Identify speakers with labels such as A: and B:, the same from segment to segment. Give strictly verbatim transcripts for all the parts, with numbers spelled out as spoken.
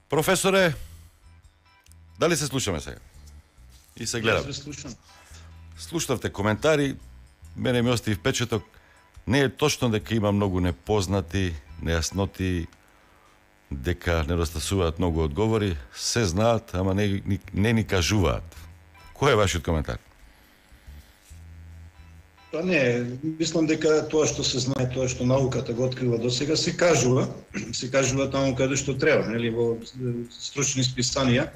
A: Професоре, дали се слушаме сега? И се гледам.
B: Јас слушам.
A: Слушнавте коментари, мене ми остави впечаток, не е точно дека има многу непознати, нејасноти, дека недостасуваат многу одговори, се знаат, ама не, не, не ни кажуваат. Кој е вашиот коментар?
B: Па не, мислам дека тоа што се знае, тоа што науката го открила до сега, се кажува, се кажува таму каде што треба, нели, во стручни списанија,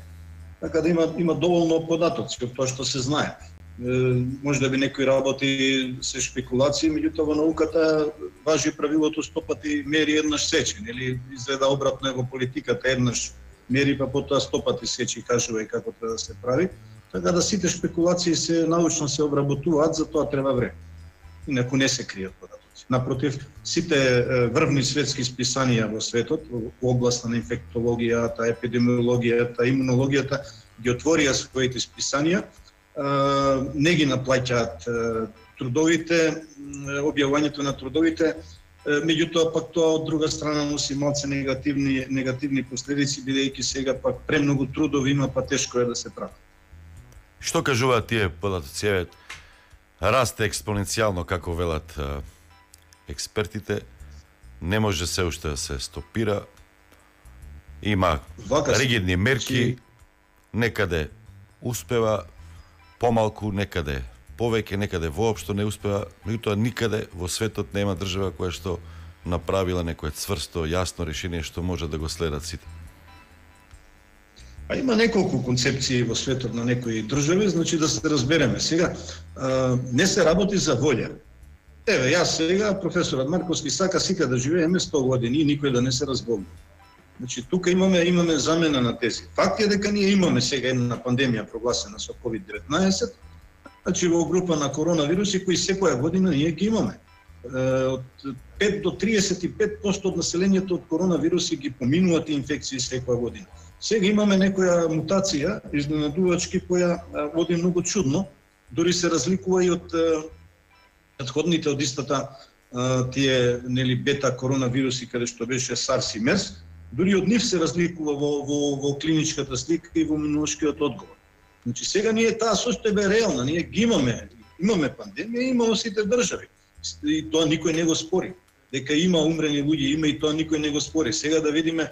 B: така да има има доволно податоци од тоа што се знае. Е, може да би некои работи се шпекулации, меѓутоа во науката важи правилото сто пати мери еднаш сечи, нели, изгледа обратно е во политиката, еднаш мери па потоа сто пати сечи, кажува и како треба да се прави. Така да сите шпекулации се научно се обработуваат, за тоа треба време. Инаку не се кријат податоци. Напротив, сите врвни светски списанија во светот, во областа на инфектологијата, епидемиологијата, имунологијата, ги отворија своите списанија, не ги наплаќаат трудовите, објавувањето на трудовите, меѓутоа пак тоа од друга страна носи малце негативни негативни последици, бидејќи сега пак премногу трудови има, па тешко е да се прави.
A: Што кажуваат тие податоци? Расте експоненцијално, како велат а, експертите, не може се уште да се стопира, има Вака ригидни мерки, некаде успева, помалку, некаде повеќе, некаде воопшто не успева, меѓутоа никаде во светот нема држава која што направила некое цврсто, јасно решение што може да го следат сите.
B: А има неколку концепции во светот на некои држави, значи да се разбереме. Сега, а, не се работи за волја. Еве, јас сега, професорот Марковски, сака сика да живееме сто години и никој да не се разболни. Значи, тука имаме имаме замена на тези. Факт е дека ние имаме сега една пандемија прогласена со ковид деветнаесет, значи во група на коронавируси кои секоја година ние ги имаме. Од пет до триесет и пет проценти од населението од коронавируси ги поминуваат инфекции секоја година. Сега имаме некоја мутација, изненадувачки, која води многу чудно, дури се разликува и од претходните од истата тие нели бета коронавируси каде што беше SARS и MERS, дури од нив се разликува во во во клиничката слика и во имунолошкиот одговор. Значи сега ние таа состојба е реална, ние ги имаме, имаме пандемија, има во сите држави. И тоа никој не го спори. Дека има умрени луѓе, има и тоа никој не го спори. Сега да видиме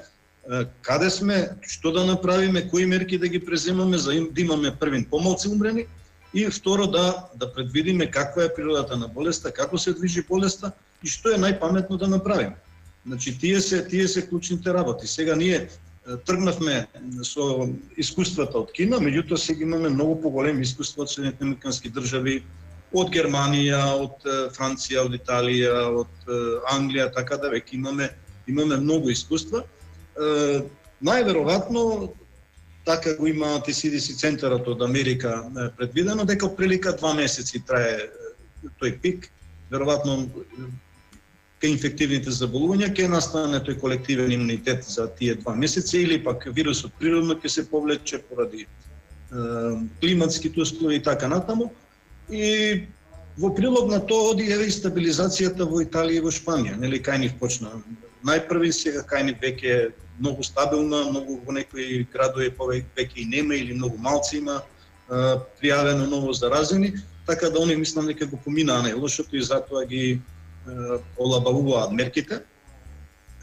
B: каде сме, што да направиме, кои мерки да ги преземаме за да имаме првин помалци умрени и второ да да предвидиме каква е природата на болеста, како се движи болеста и што е најпаметно да направиме. Значи тие се тие се клучните работи. Сега ние тргнавме со искуствата од Кина, меѓутоа сега имаме многу поголеми искуства од Соединетите американски држави, од Германија, од Франција, од Италија, од Англија, така да веќе имаме имаме многу искуства. Uh, најверојатно така го има Ти Си Ди Си центарот од Америка предвидено дека прилика два месеци трае тој пик, веројатно кај инфективните заболувања ќе настане тој колективен имунитет за тие два месеци или пак вирусот природно ќе се повлече поради uh, климатските услови и така натаму. И во прилог на тоа оди еве и стабилизацијата во Италија и во Шпанија, нели кај нив почна најпрви, сега кај нив веќе многу стабилна, многу во некои градови повеќе и нема или многу малци има а, пријавено ново заразени, така да они мислам дека го поминаа најлошото и затоа ги а, олабавуваат мерките.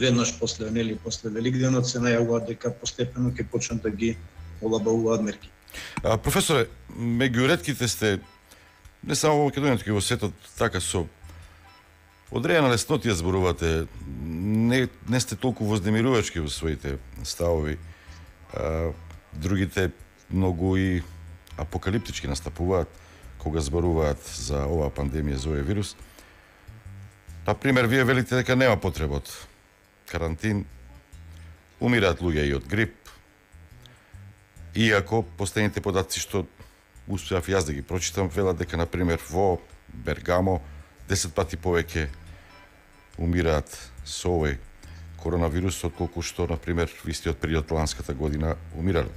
B: Веднаш после нели после Великденот се најавуваат дека постепено ќе почнат да ги олабавуваат мерки.
A: А, професоре, меѓу ретките сте не само во Македонија, туку и во светот така со одредена леснотија зборувате, не, не сте толку вознемирувачки во своите ставови. А, другите многу и апокалиптички настапуваат кога зборуваат за оваа пандемија, за овој вирус. Например, вие велите дека нема потреба од карантин, умираат луѓе и од грип, иако последните податци што успеав јас да ги прочитам, велат дека, например, во Бергамо десет пати повеќе умираат со овој коронавирус, отколку што, например, во истиот период ланската година умирале.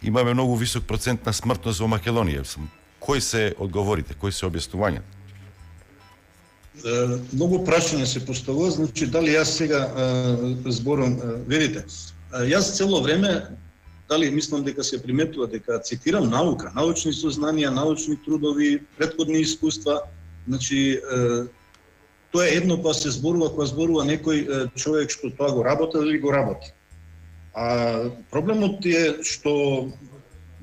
A: Имаме многу висок процент на смртност во Македонија. Кои се одговорите, кои се објаснувања?
B: Многу прашања се поставува, значи дали јас сега зборам, видите, Јас цело време, дали мислам дека се приметува дека цитирам наука, научни сознанија, научни трудови, претходни искуства, значи тоа е едно кога се зборува, кога зборува некој човек што тоа го работи или го работи. А проблемот е што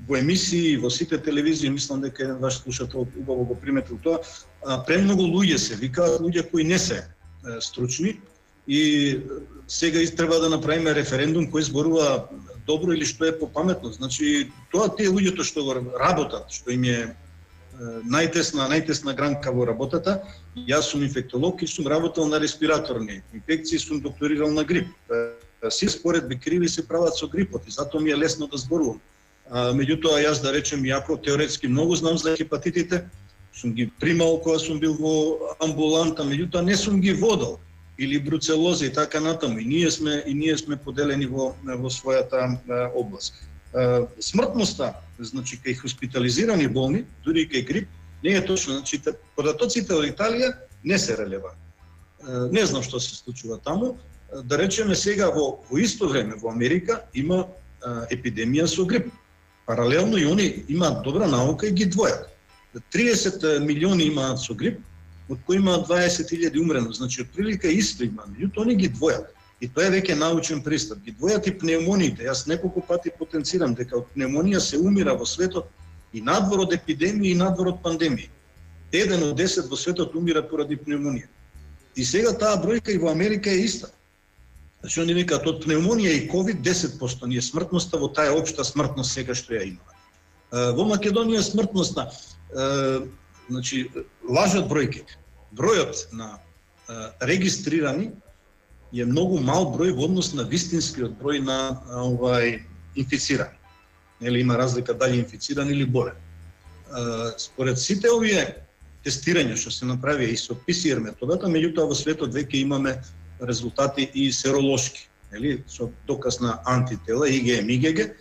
B: во емисии, во сите телевизии, мислам дека еден ваш слушател убаво го приметил тоа, премногу луѓе се викаат, луѓе кои не се стручни, и сега треба да направиме референдум кој зборува добро или што е попаметно. Значи, тоа тие луѓето што го работат, што им е најтесна, најтесна гранка во работата, јас сум инфектолог и сум работел на респираторни инфекции, сум докторирал на грип. Си споредби криви се прават со грипот и затоа ми е лесно да зборувам. А, меѓутоа, јас да речем, јако теоретски многу знам за хепатитите, сум ги примал кога сум бил во амбуланта, меѓутоа не сум ги водел, или бруцелоза и така натаму. И ние сме и ние сме поделени во во својата а, област. А, смртноста, значи кај хоспитализирани болни, дури и кај грип, не е точно. Значи податоците од Италија не се релевантни. Не знам што се случува таму. Да речеме сега во во исто време во Америка има а, епидемија со грип. Паралелно и они имаат добра наука и ги двојат. триесет милиони имаат со грип, од кои има дваесет илјади умрено, значи отприлика исто има, меѓутоа они ги двојат. И тоа е веќе научен пристап. Ги двојат и пневмониите. Јас неколку пати потенцирам дека од пневмонија се умира во светот и надвор од епидемија и надвор од пандемија. Еден од десет во светот умира поради пневмонија. И сега таа бројка и во Америка е иста. Значи они викаат од пневмонија и ковид десет проценти ни е смртноста во таа општа смртност сега што ја има. Во Македонија смртноста, значи лажат бројките. Бројот на регистрирани е многу мал број во однос на вистинскиот број на овај инфицирани. Нели има разлика дали инфициран или болен. Според сите овие тестирања што се направи и со пи си ар методата, меѓутоа во светот веќе имаме резултати и серолошки, нели, со доказ на антитела и ге ем и ге ге.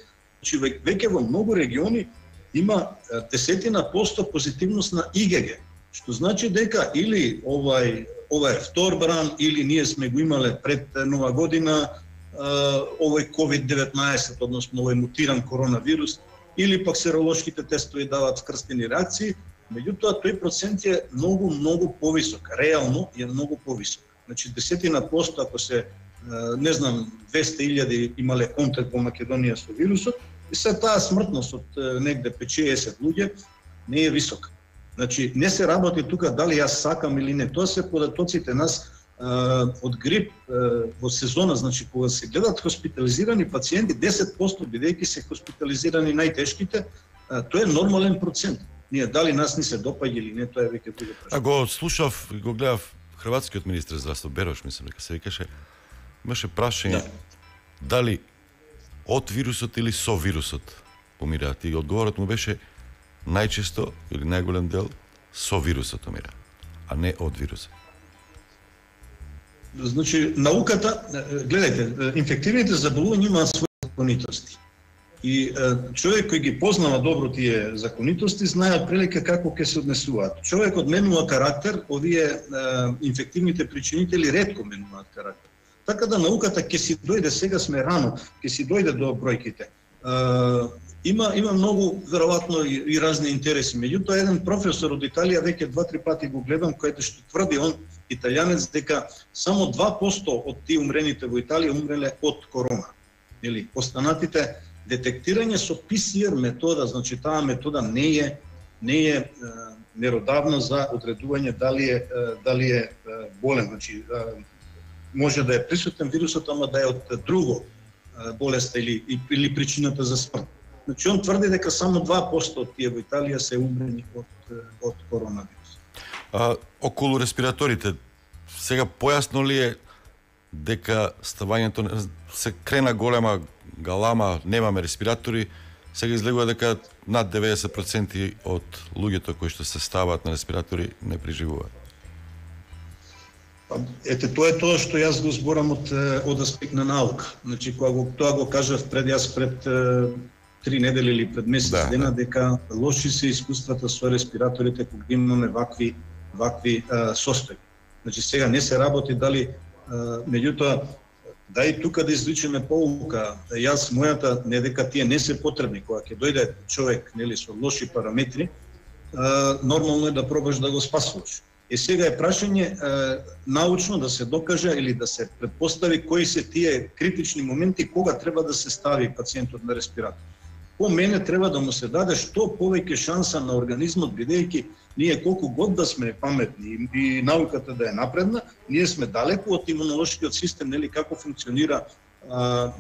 B: Значи веќе во многу региони има десетина посто позитивност на и ге ге, што значи дека или овај ова е втор бран, или ние сме го имале пред нова година овој ковид деветнаесет, односно овој мутиран коронавирус, или пак серолошките тестови даваат скрстени реакции, меѓутоа тој процент е многу, многу повисок, реално е многу повисок. Значи десетина посто, ако се, не знам, двесте илјади имале контакт во Македонија со вирусот, и се таа смртност од негде петдесет луѓе не е висока. Значи, не се работи тука дали јас сакам или не. Тоа се податоците нас а, од грип а, во сезона, значи кога се гледат хоспитализирани пациенти, десет проценти бидејќи се хоспитализирани најтешките, а, тоа е нормален процент. Ние дали нас ни се допаѓа или не, тоа е веќе друго прашање.
A: А го слушав и го гледав хрватскиот министер здравство Берош, мислам дека се викаше, имаше прашање да. Дали од вирусот или со вирусот умираат, и одговорот му беше најчесто или најголем дел со вирусот умира, а не од вирусот.
B: Значи, науката, гледајте, инфективните заболувања имаат своји законитости. И човек кој ги познава добро тие законитости, знае прилика како ќе се однесуваат. Човекот менува карактер, овие инфективните причинители ретко менуваат карактер. Така да науката ќе си дојде, сега сме рано, ќе си дојде до бројките. Има има многу веројатно и, и разни интереси. Меѓутоа еден професор од Италија веќе два-три пати го гледам, кој што тврди он италијанец дека само два проценти од тие умрените во Италија умреле од корона. Или останатите детектирање со пи си ар метода, значи таа метода не е не е, е меродавна за одредување дали е дали е болен, значи може да е присутен вирусот, ама да е од друго болест или или причината за смрт. Значи он тврди дека само два проценти од тие во Италија се умрени од од коронавирус.
A: А околу респираторите сега појасно ли е дека ставањето се крена голема галама, немаме респиратори, сега излегува дека над деветдесет проценти од луѓето кои што се ставаат на респиратори не преживуваат?
B: Ете, тоа е тоа што јас го зборам од од аспект на наука. Значи кога го тоа го кажав пред јас пред три недели или пред месец да, дена дека лоши се искуствата со респираторите кога имаме вакви вакви а, состојби. Значи сега не се работи дали а, меѓутоа да и тука да извличеме поука. Јас мојата не дека тие не се потребни кога ќе дојде човек нели со лоши параметри, а, нормално е да пробаш да го спасуваш. И сега е прашање а, научно да се докаже или да се предпостави кои се тие критични моменти кога треба да се стави пациентот на респиратор. По мене треба да му се даде што повеќе шанса на организмот, бидејќи ние колку год да сме паметни и науката да е напредна, ние сме далеку од имунолошкиот систем, нели како функционира а,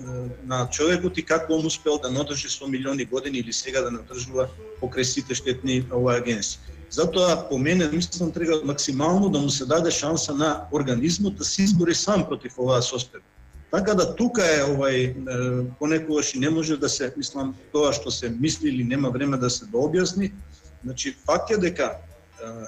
B: на човекот и како он успел да надржи со милиони години или сега да надржува покрај сите штетни оваа агенси. Затоа по мене мислам треба максимално да му се даде шанса на организмот да се избори сам против оваа состојба. Така да тука е овај понекогаш и не може да се, мислам, тоа што се мисли или нема време да се дообјасни. Значи факт е дека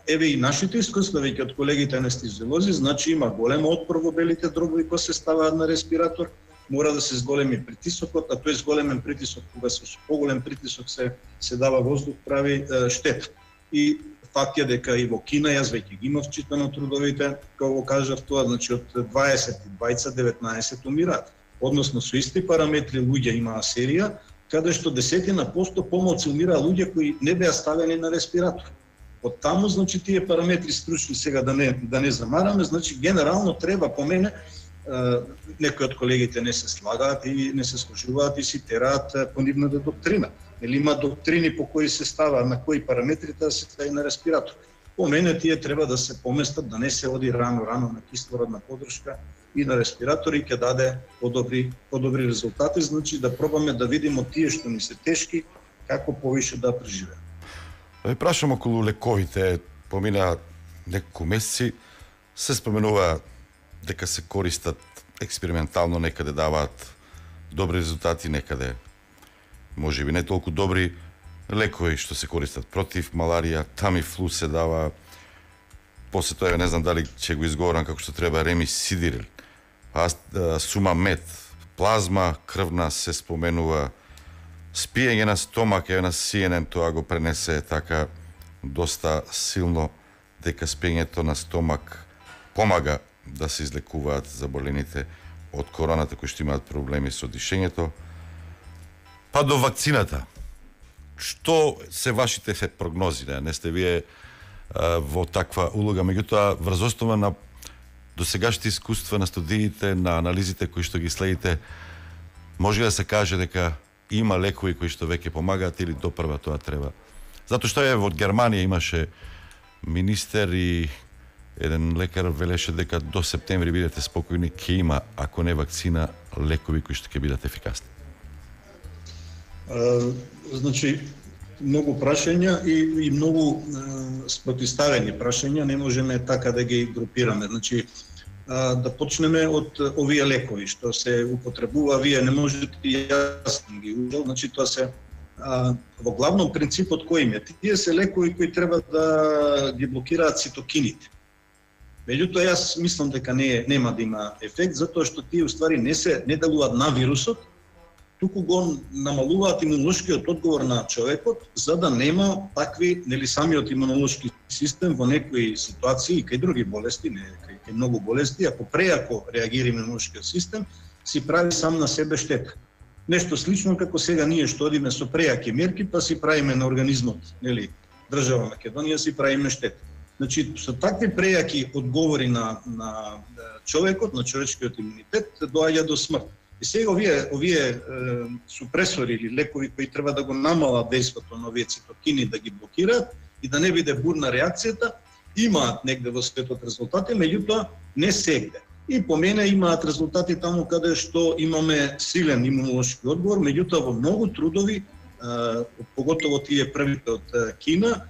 B: еве и нашите искуства веќе од колегите анестезиолози, значи има голем отпор во белите дробови кога се ставаат на респиратор, мора да се зголеми притисокот, а тој зголемен притисок кога се со поголем притисок се се дава воздух прави е, штета. И факт е дека и во Кина, јас веќе ги имав читано трудовите, како го кажав тоа, значи од дваесет и двајца деветнаесет умираат. Односно со исти параметри луѓе имаа серија, каде што десетина посто помалку умираа луѓе кои не беа ставени на респиратор. Од таму, значи, тие параметри стручни сега да не да не замараме, значи генерално треба по мене, некои од колегите не се слагаат и не се сложуваат и си тераат по нивната доктрина. Или има доктрини по кои се става, на кои параметри да се стави на респиратор. По мене тие треба да се поместат, да не се оди рано-рано на кислородна подршка и на респиратор и ќе даде подобри, подобри резултати, значи да пробаме да видиме тие што ни се тешки, како повише да преживеат.
A: Да ви прашам околу лековите, помина неколку месеци, се споменува дека се користат експериментално, некаде даваат добри резултати, некаде може би не толку добри лекови што се користат против маларија, тамифлу се дава, после тоа не знам дали ќе го изговорам како што треба, ремисидир, сумамет, плазма крвна се споменува, спиење на стомак, е на Си Ен Ен тоа го пренесе така доста силно дека спиењето на стомак помага да се излекуваат заболените од короната кои што имаат проблеми со дишењето. Па до вакцината. Што се вашите прогнози? Не, не сте вие а, во таква улога, меѓутоа врз основа на досегашните искуства, на студиите, на анализите кои што ги следите, може да се каже дека има лекови кои што веќе помагаат или допрва тоа треба? Затоа што е во Германија имаше министер и еден лекар велеше дека до септември бидете спокојни, ќе има, ако не вакцина, лекови кои што ќе бидат ефикасни.
B: Uh, значи, многу прашања и, и многу uh, спротиставени прашања, не можеме така да ги групираме. Значи, uh, да почнеме од овие лекови што се употребува, вие не можете јасно ги ужел, значи тоа се uh, во главном принципот кој им е. Тие се лекови кои треба да ги блокираат цитокините. Меѓутоа јас мислам дека не нема да има ефект, затоа што тие уствари не се не делуваат на вирусот, туку го намалуваат имунолошкиот одговор на човекот, за да нема такви, нели самиот имунолошки систем во некои ситуации и кај други болести, не кај, кај многу болести, ако преако реагира имунолошкиот систем, си прави сам на себе штета. Нешто слично како сега ние што одиме со преаки мерки, па си правиме на организмот, нели, држава Македонија си правиме штета. Значи, со такви преаки одговори на, на човекот, на човечкиот имунитет, доаѓа до смрт. И сега овие, овие е, супресори или лекови кои треба да го намалат дејството на овие цитокини, да ги блокираат и да не биде бурна реакцијата, имаат негде во светот резултати, меѓутоа не сегде. И по мене имаат резултати таму каде што имаме силен имунолошки одговор, меѓутоа во многу трудови, е, поготово тие првите од Кина,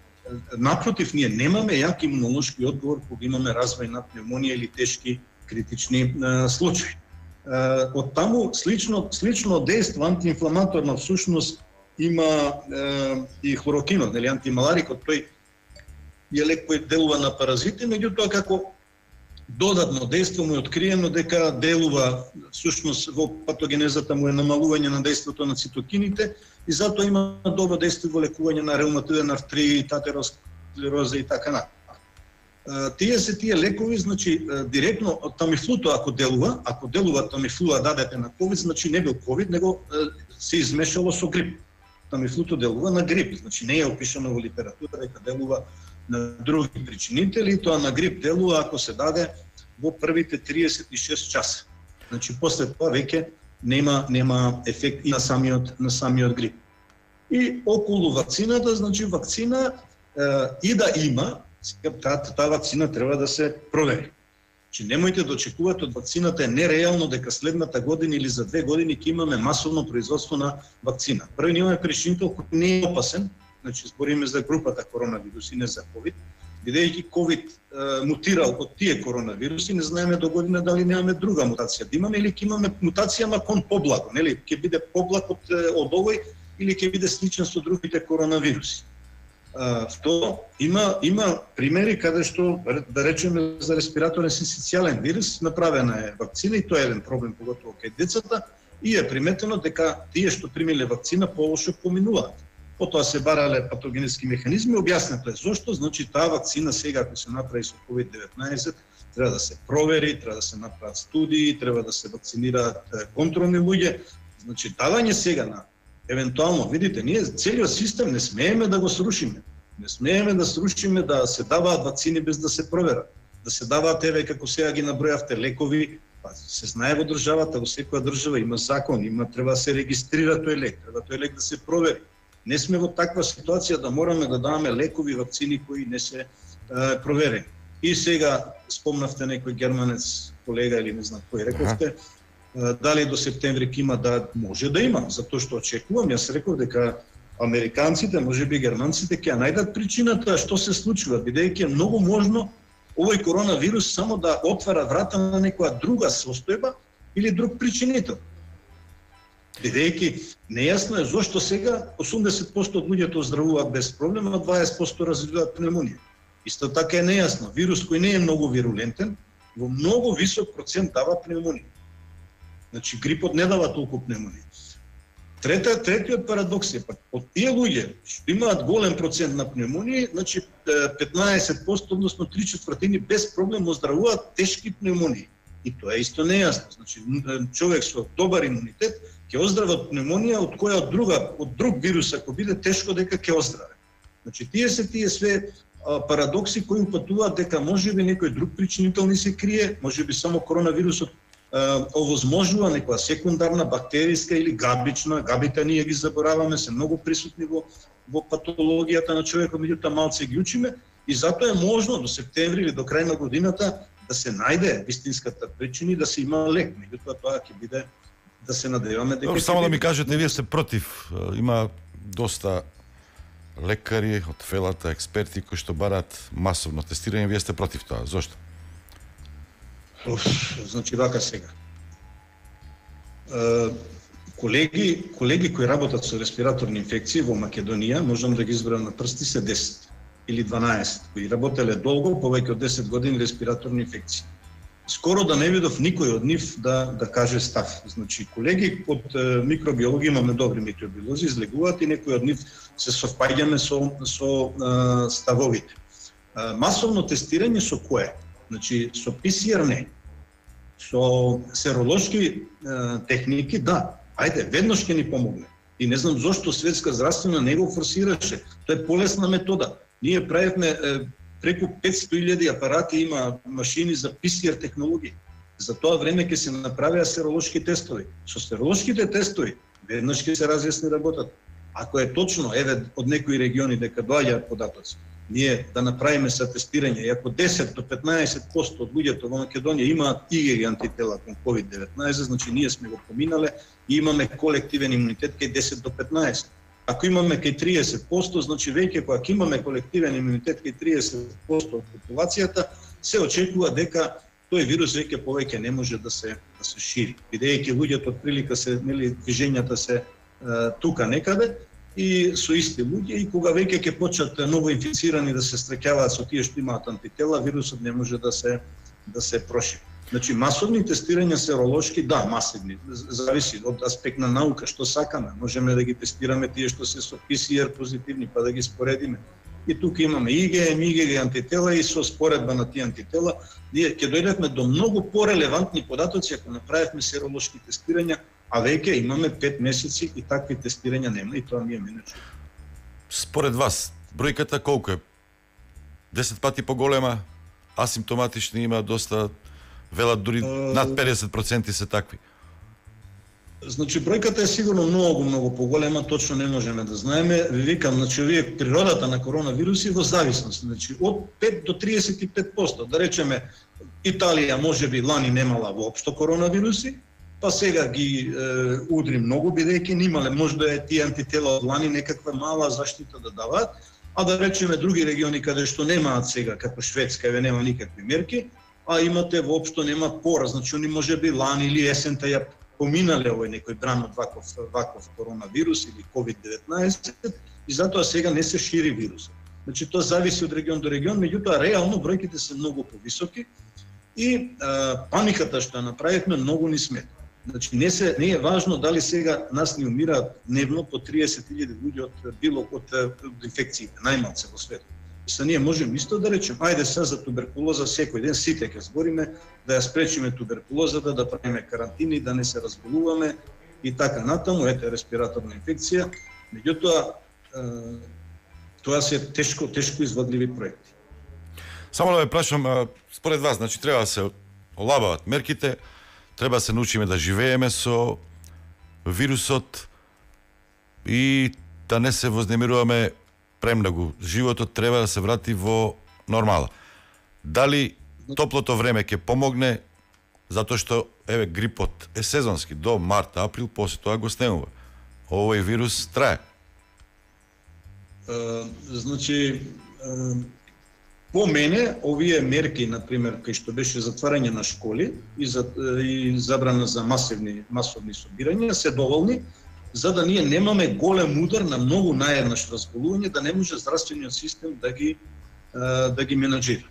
B: напротив, ние немаме јак имунолошки одговор кога имаме развој на пневмонија или тешки критични е, случаи. Од таму слично слично дејство антиинфламаторно всушност има е, и хлорокинот, нели антималарикот, тој е лек кој делува на паразити, меѓутоа како додатно дејство му е откриено дека делува всушност во патогенезата му е намалување на дејството на цитокините и затоа има добро дејство во лекување на реуматоиден артрит, атеросклероза и така натаму. Тие се тие лекови, значи директно од тамифлуто ако делува, ако делува тамифлуа дадете на ковид, значи не бил ковид, него се измешало со грип. Тамифлуто делува на грип, значи не е опишано во литература дека делува на други причинители, тоа на грип делува ако се даде во првите триесет и шест часа. Значи после тоа веќе нема нема ефект и на самиот на самиот грип. И околу вакцината, значи вакцина е, и да има, таа та вакцина треба да се провери. Че немојте да очекувате од вакцината е нереално дека следната година или за две години ќе имаме масовно производство на вакцина. Први имаме причинител кој не е опасен, значи збориме за групата коронавируси, не за ковид, бидејќи ковид е, мутирал од тие коронавируси, не знаеме до година дали немаме друга мутација да имаме или ќе имаме мутација ма кон поблаго, нели? Ќе биде поблаг од, од овој или ќе биде сличен со другите коронавируси. Uh, второ, има има примери каде што да речеме за респираторен синцитијален вирус направена е вакцина и тоа е еден проблем поготово кај децата и е приметено дека тие што примиле вакцина полошо поминуваат. Потоа се барале патогенетски механизми, објаснето е зошто, значи таа вакцина сега ако се направи со ковид деветнаесет треба да се провери, треба да се направат студии, треба да се вакцинираат контролни луѓе, значи давање сега на евентуално, видите, ние целиот систем не смееме да го срушиме. Не смееме да срушиме да се даваат вакцини без да се проверат. Да се даваат, еве, како сега ги набројавте, лекови, па се знае во државата, во секоја држава има закон, има треба да се регистрира тој лек, треба тој лек да се провери. Не сме во таква ситуација да мораме да даваме лекови, вакцини кои не се е, проверени. И сега спомнавте некој германец, колега или не знам кој рековте, дали до септември ќе има, да може да има, затоа што очекувам, јас реков дека американците, можеби германците ќе најдат причината што се случува, бидејќи е многу можно овој коронавирус само да отвара врата на некоја друга состојба или друг причинител. Бидејќи нејасно е зошто сега осумдесет проценти од луѓето оздравуваат без проблем, а дваесет проценти развиваат пневмонија. Исто така е нејасно, вирус кој не е многу вирулентен, во многу висок процент дава пневмонија. Значи грипот не дава толку пневмонија. Трета, третиот парадокс е пак, од тие луѓе што имаат голем процент на пневмонија, значи петнаесет проценти, односно три четвртини без проблем оздравуваат тешки пневмонии. И тоа е исто нејасно. Значи човек со добар имунитет ќе оздраве од пневмонија од која од друга, од друг вирус ако биде тешко дека ќе оздраве. Значи тие се тие све а, парадокси кои упатуваат дека можеби некој друг причинител не се крие, можеби само коронавирусот овозможува некоја секундарна бактериска или габична, габите ние ги забораваме, се многу присутни во, во патологијата на човекот, меѓутоа малце ги учиме и затоа е можно до септември или до крај на годината да се најде вистинската причина и да се има лек, меѓутоа тоа ќе биде да се надеваме дека
A: Добро, само да ми кажете, вие сте против, има доста лекари од фелата, експерти кои што бараат масовно тестирање, вие сте против тоа, зошто?
B: Оф, значи вака сега. Е, колеги, колеги кои работат со респираторни инфекции во Македонија, можам да ги избрам на прсти, се десет или дванаесет, кои работеле долго, повеќе од десет години респираторни инфекции. Скоро да не видов никој од нив да да каже став. Значи колеги од е, микробиологија имаме добри микробиолози, излегуваат и некои од нив се совпаѓаме со со е, ставовите. Е, масовно тестирање со кое? Значи, со пи си ар не, со серолошки е, техники, да, ајде, веднаш ќе ни помогне. И не знам зошто Светска здравствена не го форсираше. Тоа е полесна метода. Ние правевме е, преку петстотини илјади апарати, има машини за пи си ар технологии. За тоа време ќе се направеа серолошки тестови. Со серолошките тестови веднаш ќе се разјасни работата. Ако е точно, еве, од некои региони дека доаѓаат податоци, ние да направиме са тестирање, и ако десет до петнаесет проценти од луѓето во Македонија имаат ИГГ антитела кон ковид деветнаесет, значи ние сме го поминале и имаме колективен имунитет кај десет до петнаесет. Ако имаме кај триесет проценти, значи веќе кога имаме колективен имунитет кај триесет проценти од популацијата, се очекува дека тој вирус веќе повеќе не може да се да се шири. Бидејќи луѓето од прилика се, нели, движењата се е, тука некаде, и со исти луѓе, и кога веќе ќе почнат ново инфицирани да се стрекјаваат со тие што имаат антитела, вирусот не може да се да се прошири. Значи масовни тестирања серолошки, да, масивни, зависи од аспект на наука што сакаме. Можеме да ги тестираме тие што се со пи си ар позитивни, па да ги споредиме. И тука имаме И Г М, И Г Г антитела и со споредба на тие антитела ние ќе дојдевме до многу порелевантни податоци ако направивме серолошки тестирања, а веќе имаме пет месеци и такви тестирања нема и тоа ми е мене чудо.
A: Според вас, бројката колку е? десет пати поголема, асимптоматични има доста, велат дури над педесет проценти се такви.
B: Значи бројката е сигурно многу многу поголема, точно не можеме да знаеме. Ви викам, значи овие природата на коронавируси во зависност, значи од пет до триесет и пет проценти. Да речеме Италија можеби лани немала воопшто коронавируси, па сега ги е, удри многу бидејќи немале можда е тие антитела од лани некаква мала заштита да даваат, а да речеме други региони каде што немаат сега, како Шведска, еве нема никакви мерки, а имате воопшто нема пора, значи они можеби лани или есента ја поминале овој некој бран од ваков, ваков коронавирус или ковид деветнаесет и затоа сега не се шири вирусот. Значи тоа зависи од регион до регион, меѓутоа реално бројките се многу повисоки и а, паниката што ја направивме многу ни смета. Значи не се не е важно дали сега нас ни умираат дневно по триесет илјади луѓе од било од, од инфекциите, најмалце во светот. Са ние можеме исто да речем, ајде сега за туберкулоза секој ден сите ќе збориме да ја спречиме туберкулозата, да правиме карантини, да не се разболуваме и така натаму, ете респираторна инфекција. Меѓутоа тоа се тешко тешко изводливи проекти.
A: Само да ве прашам, според вас, значи треба да се олабават мерките, треба да се научиме да живееме со вирусот и да не се вознемируваме премногу. Животот треба да се врати во нормала. Дали топлото време ќе помогне, затоа што еве грипот е сезонски до март, април, после тоа го снемува. Овој вирус трае.
B: Uh, значи uh, по мене овие мерки, например, кај што беше затварање на школи и, за, и забрана за масивни масовни собирања се доволни за да ние немаме голем удар на многу наеднаш разболување, да не може здравствениот систем да ги да ги менаџира.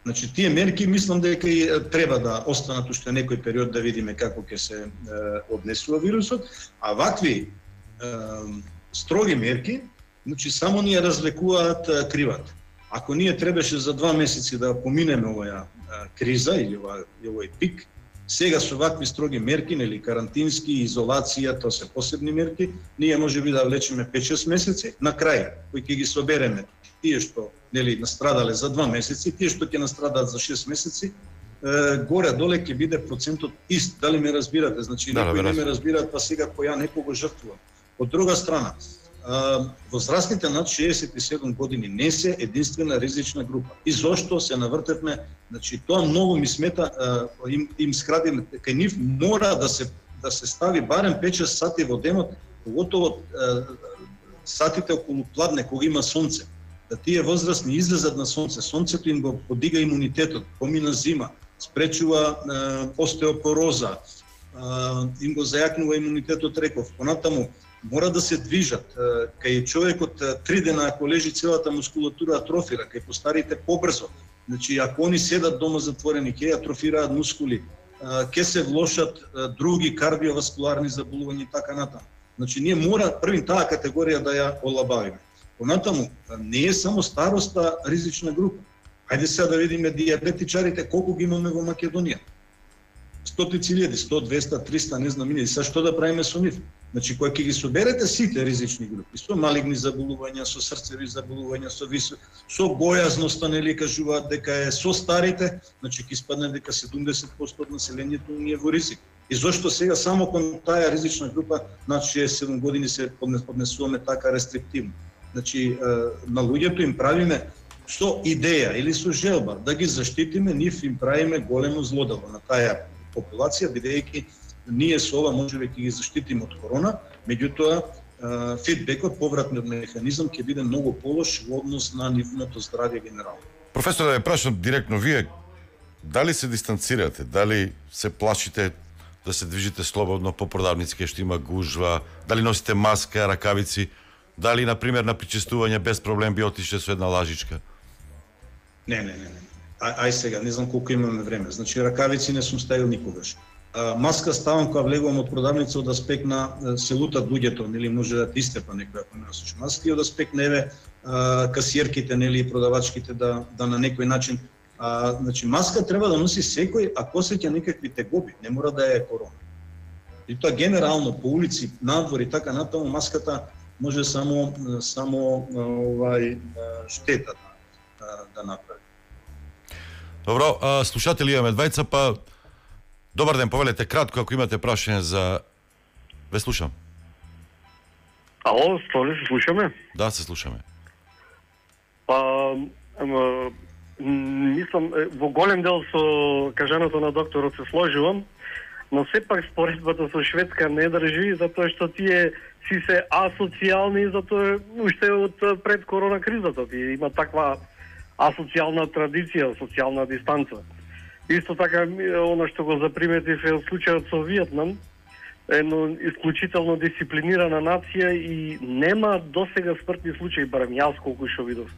B: Значи тие мерки мислам дека и треба да останат уште некој период да видиме како ќе се однесува вирусот, а вакви строги мерки, значи само ни ја разлекуваат кривата. Ако ние требаше за два месеци да поминеме оваа криза или овој пик, сега со вакви строги мерки, нели карантински, изолација, тоа се посебни мерки, ние можеби да влечеме пет-шест месеци, на крај кои ќе ги собереме тие што нели настрадале за два месеци, тие што ќе настрадаат за шест месеци, е, горе доле ќе биде процентот ист. Дали ме разбирате? Значи да, некои не ме разбираат, па сега која некого жртвувам. Од друга страна, возрастните над шеесет и седум години не се единствена ризична група. И зошто се навртевме, значи тоа многу ми смета, им, им скрадим, кај нив мора да се да се стави барем пет-шест сати во денот, поготово сатите околу пладне кога има сонце. Да тие возрастни излезат на сонце, сонцето им го подига имунитетот, помина зима, спречува остеопороза, им го зајакнува имунитетот, реков. Понатаму мора да се движат. Кај човекот три дена ако лежи целата мускулатура атрофира, кај постарите побрзо. Значи ако они седат дома затворени, ќе атрофираат мускули, ќе се влошат други кардиоваскуларни заболувања и така натаму. Значи ние мора првин таа категорија да ја олабавиме. Понатаму не е само староста ризична група. Ајде сега да видиме дијабетичарите колку ги имаме во Македонија. Стотици илјади, сто, двеста, триста, не знам илјади. Сега што да правиме со нив? Значи, кој ќе ги соберете сите ризични групи, со малигни заболувања, со срцеви заболувања, со висо, со бојазноста, нели кажуваат дека е со старите, значи ќе испадне дека седумдесет проценти од населението ни е во ризик. И зошто сега само кон таа ризична група над шеесет и седум години се поднесуваме така рестриктивно? Значи, на луѓето им правиме со идеја или со желба да ги заштитиме, нив им правиме големо злодело на таа популација, бидејќи ние со ова можеби ќе ги заштитиме од корона, меѓутоа фидбекот, повратниот механизам ќе биде многу полош во однос на нивното здравје генерално.
A: Професор, да ја прашам директно, вие дали се дистанцирате, дали се плашите да се движите слободно по продавници кај што има гужва, дали носите маска, ракавици, дали на пример на причестување без проблем би отишле со една лажичка?
B: Не, не, не, не. А, ај сега, не знам колку имаме време. Значи ракавици не сум ставил никогаш. маска ставам кога влегувам од продавница од аспект на се лутат луѓето, нели може да ти истепа некој ако не носиш маски, од аспект на еве касиерките, нели продавачките да да на некој начин, а, значи маска треба да носи секој ако осеќа некакви тегоби, не мора да е корона. И тоа генерално по улици, надвор и така натаму маската може само само овај штета да, да направи.
A: Добро, а, слушатели имаме двајца, па добар ден, повелете кратко ако имате прашање за... Ве слушам.
C: Ало, Столи, се слушаме?
A: Да, се слушаме.
C: Па, ама, мислам, во голем дел со кажаното на докторот се сложувам, но сепак споредбата со Шведска не држи, затоа што тие си се асоцијални, затоа уште од пред корона кризата. Тие има таква асоцијална традиција, социјална дистанца. Исто така, оно што го заприметив е од случајот со Виетнам, едно исклучително дисциплинирана нација и нема досега смртни случаи, барем јас колку што видов.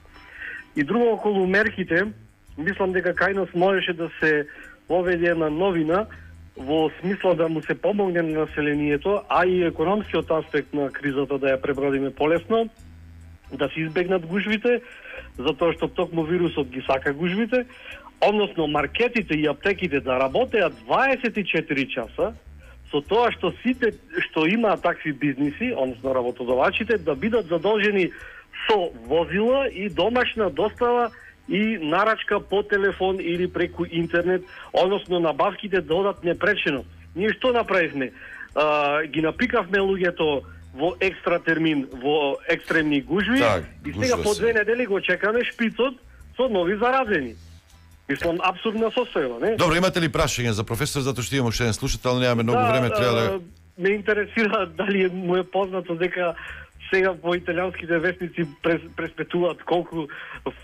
C: И друго околу мерките, мислам дека кај нас можеше да се поведе една новина во смисла да му се помогне на населението, а и економскиот аспект на кризата да ја пребродиме полесно, да се избегнат гужвите, затоа што токму вирусот ги сака гужвите, односно маркетите и аптеките да работеат дваесет и четири часа, со тоа што сите што имаат такви бизниси, односно работодавачите, да бидат задолжени со возила и домашна достава и нарачка по телефон или преку интернет, односно набавките да одат непречено. Ние што направивме? А, ги напикавме луѓето во екстра термин, во екстремни гужви,
A: так,
C: и сега по две недели го чекаме шпицот со нови заразени. Мислам, абсурдна состојба, не?
A: Добро, имате ли прашање за професор, затоа што имаме уште еден слушател, немаме многу
C: да,
A: време, треба да...
C: Ме интересира дали му е познато дека сега по италијанските вестници прес, преспетуваат колку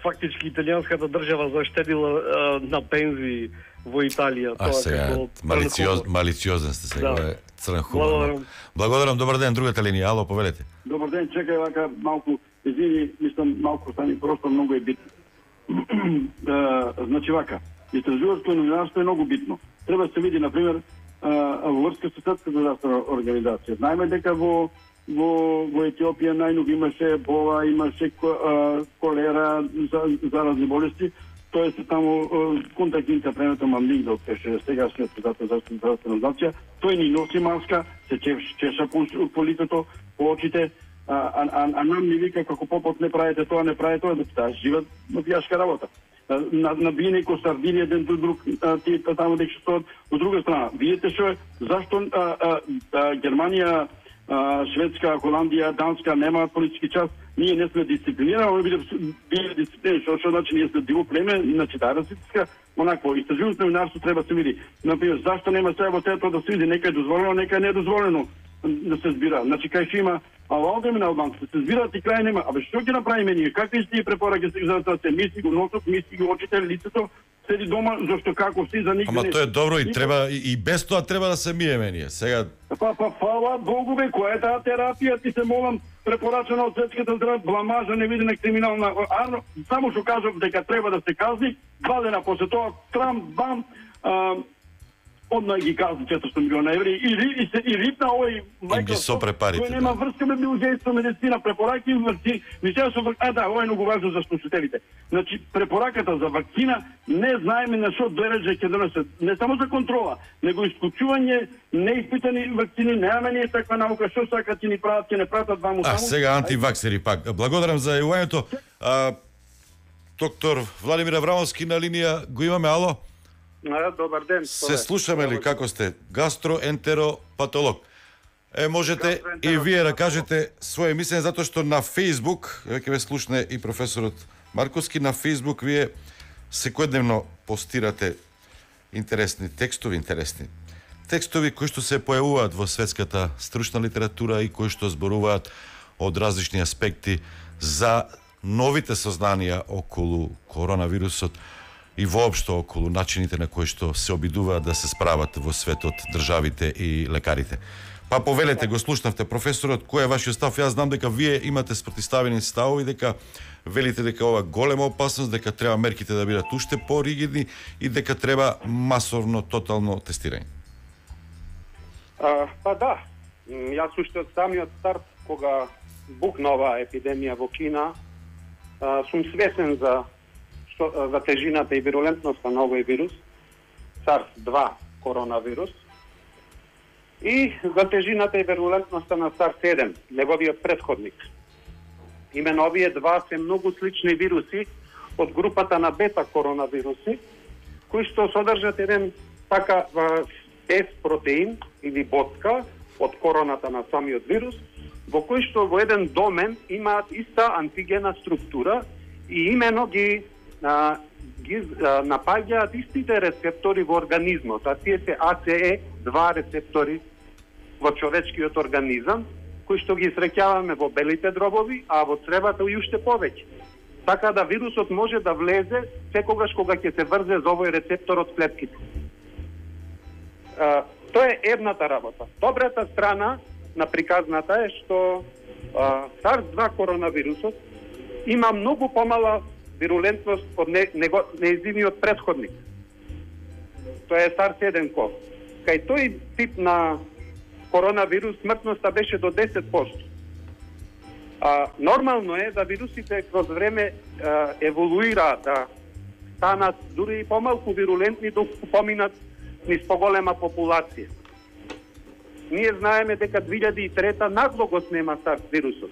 C: фактички италијанската држава заштедила а, на пензии во Италија.
A: А сега, малициоз, малициозен сте сега, да. Црн хумор. Благодарам. Благодарам, добар ден, другата линија, ало, повелете.
D: Добар ден, чекај вака малку, извини, мислам малку стани просто многу е битно. Значи вака, истражувачко новинарство е многу битно. Треба да се види, например, во врска со Светската здравствена организација. Знаеме дека во во во Етиопија најногу имаше бола, имаше колера, за, заразни болести. Тоа се таму контактните премето мамлингдот беше сегашниот председател за здравствена организација. Тој ни носи маска, се чеша по, по лицето, по очите, а, а, а, а нам ни вика како попот не правите тоа, не правите тоа, да таа жива мафијашка работа. На, на биене ко сардини еден до друг, тие таму дека што од друга страна. Видите што зашто а, а, а, Германија, а, Шведска, Холандија, Данска немаат политички час? Ние не сме дисциплинирани, они биле дисциплинирани, што значи ние сме диво племе, иначе да расистска, онакво истражувањето новинарство треба да се види. Например, зашто нема сега во тоа да се види, нека е дозволено, нека е недозволено да се збира. Значи кај што има албанци на албанците, се збираат и крај нема. Абе што ќе направиме ние? Какви сте препораки за да се мисли го носот, мисли го очите, лицето, седи дома, зашто како си за никој.
A: Ама тоа е добро и треба и, и без тоа треба да се миеме ние. Сега
D: Па па фала Богу бе, која е таа терапија, ти се молам, препорачена од Светската здравствена бламажа, невидена криминална арно, само што кажав дека треба да се казни, два дена после тоа трам бам а, одма ги казни четиристотини милиона еври и, и, и, и рипна овој
A: Microsoft кој
D: нема врска ме биологија медицина, препораки вакцини, мислам со а да, ова е многу важно за слушателите. Значи препораката за вакцина не знаеме на што дереже ќе донесе, не само за контрола, него исклучување неиспитани вакцини, немаме ние таква наука, што сакат ќе ни прават, ќе не пратат ваму таму.
A: А сега антиваксери пак. Благодарам за јавувањето. Доктор Владимир Аврамовски на линија го имаме, ало?
E: А, добар ден.
A: Се слушаме ли како сте? Гастроентеропатолог. Е, можете и вие да кажете своje мислење, затоа што на Facebook, веќе ве слушне и професорот Марковски, на Facebook вие секојдневно постирате интересни текстови, интересни текстови кои што се појавуваат во светската стручна литература и кои што зборуваат од различни аспекти за новите сознанија околу коронавирусот и воопшто околу начините на кои што се обидуваат да се справат во светот државите и лекарите. Па повелете, го слушнавте професорот, кој е вашиот став? Јас знам дека вие имате спротивставени ставови, дека велите дека ова голема опасност, дека треба мерките да бидат уште поригидни и дека треба масовно, тотално тестирање.
E: А, па да, М, јас уште од самиот старт, кога букна оваа епидемија во Кина, а, сум свесен за, што, за тежината и вирулентноста на овој вирус, SARS два коронавирус, и за тежината и вирулентноста на SARS еден, неговиот претходник. Имено овие два се многу слични вируси од групата на бета коронавируси, кои што содржат еден така S протеин или ботка од короната на самиот вирус, во кој што во еден домен имаат иста антигена структура и имено ги, а, ги а, напаѓаат истите рецептори во организмот, а тие се А Це Е два рецептори во човечкиот организам, кои што ги среќаваме во белите дробови, а во цревата и уште повеќе. Така да вирусот може да влезе секогаш кога ќе се врзе за овој рецептор од клетките. А, тоа е едната работа. Добрата страна на приказната е што а, SARS два коронавирусот има многу помала вирулентност од не, него, неизиниот претходник. Тоа е SARS еден ков. Кај тој тип на коронавирус смртноста беше до десет проценти. А, нормално е да вирусите кроз време а, еволуираат, да станат дури и помалку вирулентни доколку поминат низ поголема популација. Ние знаеме дека две илјади и трета нагло го снема SARS вирусот.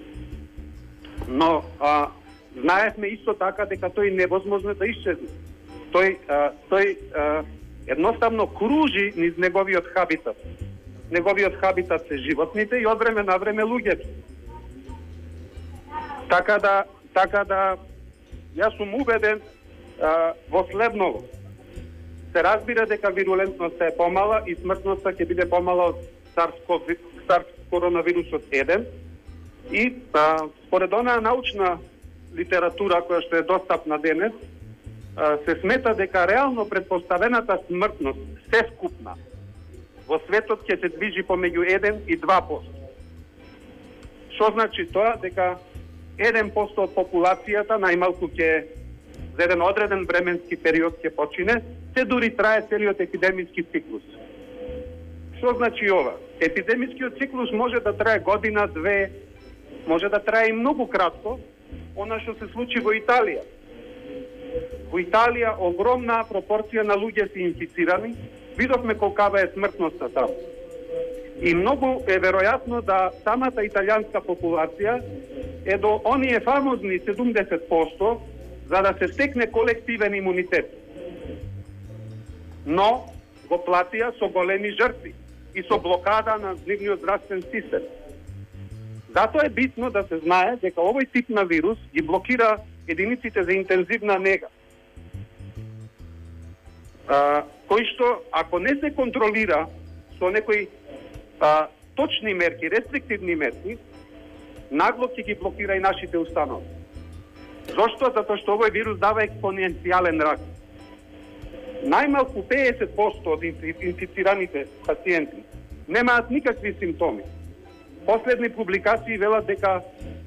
E: Но а, знаевме исто така дека тој невозможно да исчезне. Тој, а, тој а, едноставно кружи низ неговиот хабитат. Неговиот хабитат се животните и од време на време луѓето. Така да, така да, јас сум убеден а, во следново. Се разбира дека вирулентноста е помала и смртноста ќе биде помала од SARS коронавирусот еден. И а, според онаа научна литература која што е достапна денес, а, се смета дека реално предпоставената смртност се скупна во светот ќе се движи помеѓу еден и два проценти. Што значи тоа? Дека еден проценти од популацијата најмалку ќе за еден одреден временски период ќе почине, се дури трае целиот епидемиски циклус. Што значи ова? Епидемискиот циклус може да трае година, две, може да трае и многу кратко, она што се случи во Италија. Во Италија огромна пропорција на луѓе се инфицирани, видовме колкава е смртноста таму. И многу е веројатно да самата италијанска популација е до оние фамозни седумдесет проценти за да се стекне колективен имунитет. Но го платија со големи жртви и со блокада на нивниот здравствен систем. Затоа е битно да се знае дека овој тип на вирус ги блокира единиците за интензивна нега, а, кои што, ако не се контролира со некои а, точни мерки, рестриктивни мерки, нагло ќе ги блокира и нашите установи. Зошто? Затоа што овој вирус дава експоненцијален раст. Најмалку педесет проценти од инфицираните пациенти немаат никакви симптоми. Последни публикации велат дека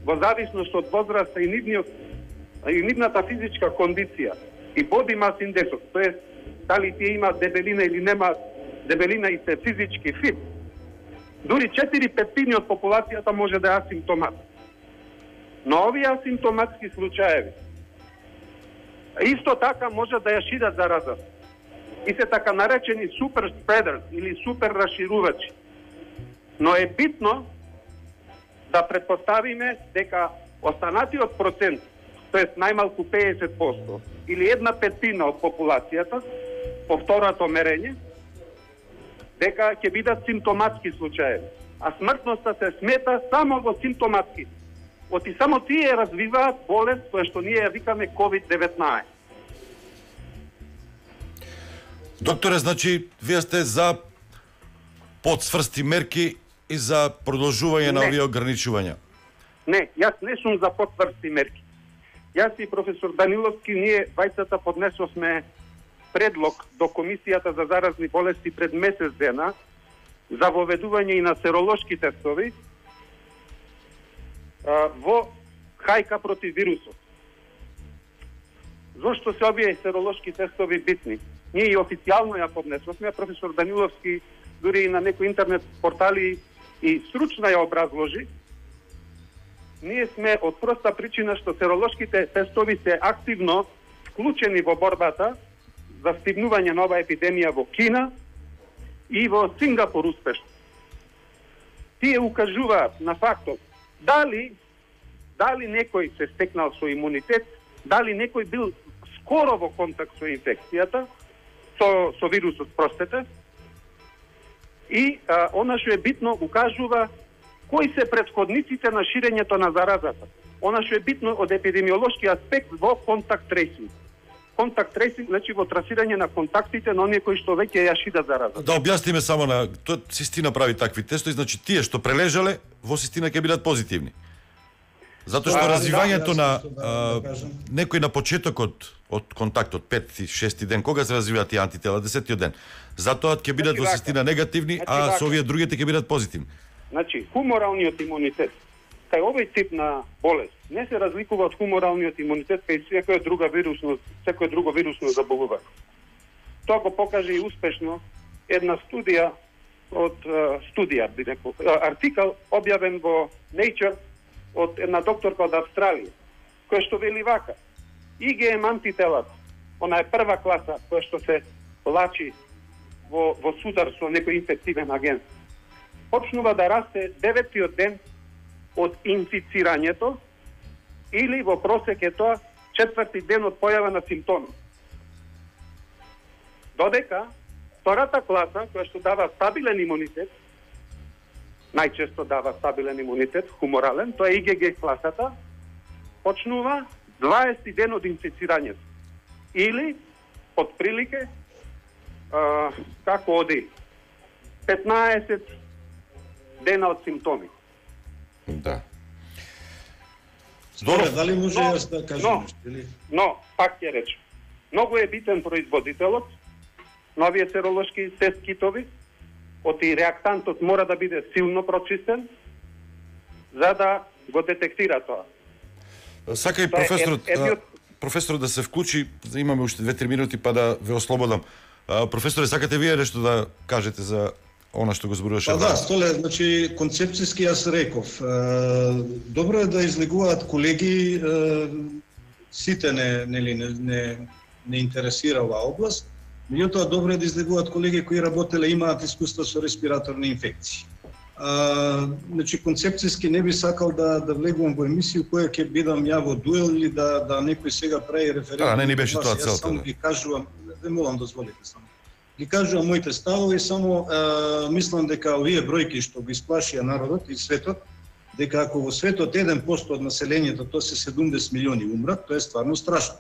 E: во зависност од возраста и нивниот и нивната физичка кондиција и body mass индексот, тоест дали тие имаат дебелина или немаат дебелина и се физички фит, дури четири петтини од популацијата може да е асимптомат. Но овие асимптоматски случаеви исто така може да ја шират зараза. И се така наречени супер спредерс или супер расширувачи. Но е битно да предпоставиме дека останатиот процент, тоест најмалку педесет проценти или една петина од популацијата, по второто мерење, дека ќе бидат симптоматски случаеви. А смртноста се смета само во симптоматски. Оти само тие развиваат болест која што ние ја викаме ковид деветнаесет.
A: Докторе, значи, вие сте за подсврсти мерки и за продолжување на овие ограничувања?
E: Не, јас не сум за подсврсти мерки. Јас и професор Даниловски, ние двајцата поднесовме предлог до Комисијата за заразни болести пред месец дена за воведување и на серолошки тестови а, во хајка против вирусот. Зошто се овие серолошки тестови битни? Ние и официјално ја поднесовме, професор Даниловски дури и на некои интернет портали и стручно ја образложи, ние сме од проста причина што серолошките тестови се активно вклучени во борбата за стигнување на оваа епидемија во Кина и во Сингапур успешно. Тие укажуваат на фактот дали дали некој се стекнал со имунитет, дали некој бил скоро во контакт со инфекцијата, со, со вирусот, простете, и а, она што е битно укажува кои се претходниците на ширењето на заразата. Она што е битно од епидемиолошки аспект во контакт трейсинг. Контакт трейсинг, значи во трасирање на контактите на оние кои што веќе ја шидат заразата.
A: Да објасниме само на тоа систина прави такви тестови, значи тие што прележале во систина ќе бидат позитивни. Затоа што
B: А,
A: развивањето
B: да,
A: на
B: да, да,
A: а,
B: да кажам.
A: некој на почетокот од контактот пети, шести ден, кога се развиваат тие антитела, десетиот ден. Затоа ќе бидат во
E: вака.
A: систина негативни,
E: Значи
A: а
E: вака.
A: со овие другите ќе бидат позитивни.
E: Значи, хуморалниот имунитет кај овој тип на болест не се разликува од хуморалниот имунитет кај секоја друга вирусно, секој друго вирусно заболување. Тоа го покаже и успешно една студија од студија, би рекол, артикал објавен во Nature од една докторка од Австралија, која што вели вака: И Г М антителата, она е прва класа која што се лачи во, во судар со некој инфективен агент, почнува да расте деветиот ден од инфицирањето или во просек е тоа четврти ден од појава на симптоми. Додека втората класа, која што дава стабилен имунитет, најчесто дава стабилен имунитет, хуморален, тоа е И Г Г класата, почнува дваесети ден од инфицирањето. Или, од прилике, а, како оди, петнаесет дена од симптоми.
A: Да.
B: Добре, дали може
E: Но,
B: јас да кажам
E: но,
B: нешто или?
E: Но, пак ќе речем, многу е битен производителот на овие серолошки тест китови, оти реактантот мора да биде силно прочистен, за да го детектира тоа.
A: Сака и
E: Тоа е
A: професорот,
E: ед- едниот-
A: а, професорот да се вклучи, имаме уште две-три минути па да ве ослободам. А, професоре, сакате вие нешто да кажете за она што го зборуваше?
B: Па да, Столе, значи концепцијски јас реков. Е, добро е да излегуваат колеги, е, сите не нели не, не не интересира оваа област, меѓутоа добро е да излегуваат колеги кои работеле имаат искуство со респираторни инфекции. А, значи концепцијски не би сакал да да влегувам во емисија која ќе бидам ја во дуел или да да некој сега прави референдум.
A: Да, не ни беше тоа
B: Јас
A: целта,
B: само
A: да.
B: ги кажувам, ве молам дозволите само. Ги кажувам моите ставови, само е, мислам дека овие бројки што го исплашија народот и светот, дека ако во светот еден процент од населението, тоа се седумдесет милиони умрат, тоа е стварно страшно.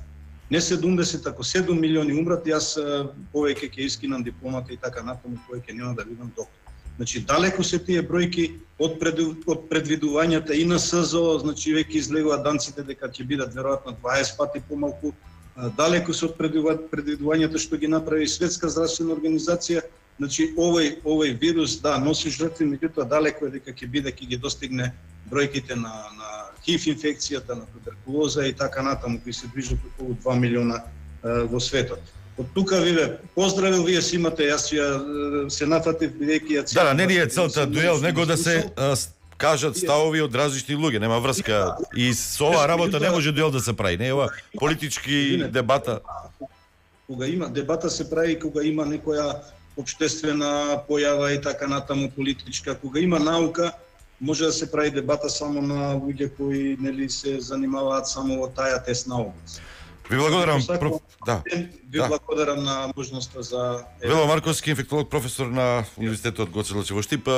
B: Не седумдесет, ако седум милиони умрат, јас е, повеќе ќе искинам дипломата и така натаму, повеќе нема да бидам доктор. Значи, далеко се тие бројки од, пред, од предвидувањата и на С З О, значи веќе излегуваат данците дека ќе бидат веројатно дваесет пати помалку, далеко се од предвидувањата што ги направи Светска здравствена организација. Значи овој овој вирус да носи жртви, меѓутоа далеко е дека ќе биде ќе ги достигне бројките на на Х И В инфекцијата, на туберкулоза и така натаму, кои се движат околу два милиона е, во светот. Од тука вие поздравил, вие си имате, јас ја се нафатив бидејќи ја
A: Да, да, не ни е целта дуел, него да се а, с- кажат ставови од различни луѓе, нема врска. И со оваа работа не може дуел да се прави, не е ова политички дебата.
B: Кога има дебата се прави кога има некоја општествена појава и така натаму политичка, кога има наука може да се прави дебата само на луѓе кои нели се занимаваат само во таа тесна област.
A: Ви благодарам,
B: Сакам,
A: проф... да.
B: Ви
A: да.
B: благодарам на можноста за
A: Вело Марковски, инфектолог, професор на Универзитетот Гоце Делчев во Штип.